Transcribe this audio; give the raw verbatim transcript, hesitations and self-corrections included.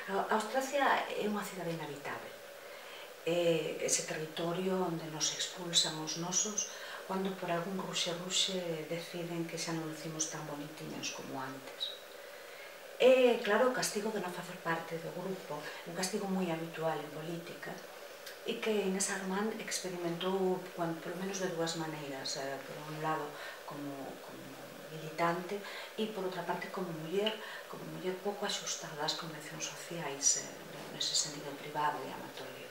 Austracia é unha cidade inhabitável. É ese territorio onde nos expulsan os nosos cando por algún ruxe-ruxe deciden que xa non lucimos tan bonitiños como antes. É, claro, o castigo de non facer parte do grupo, un castigo moi habitual en política, e que Inés Armand experimentou, polo menos de dúas maneiras, por un lado como militante e, por outra parte, como muller, como muller pouco axustada ás convencións sociais nese sentido privado e amatorio.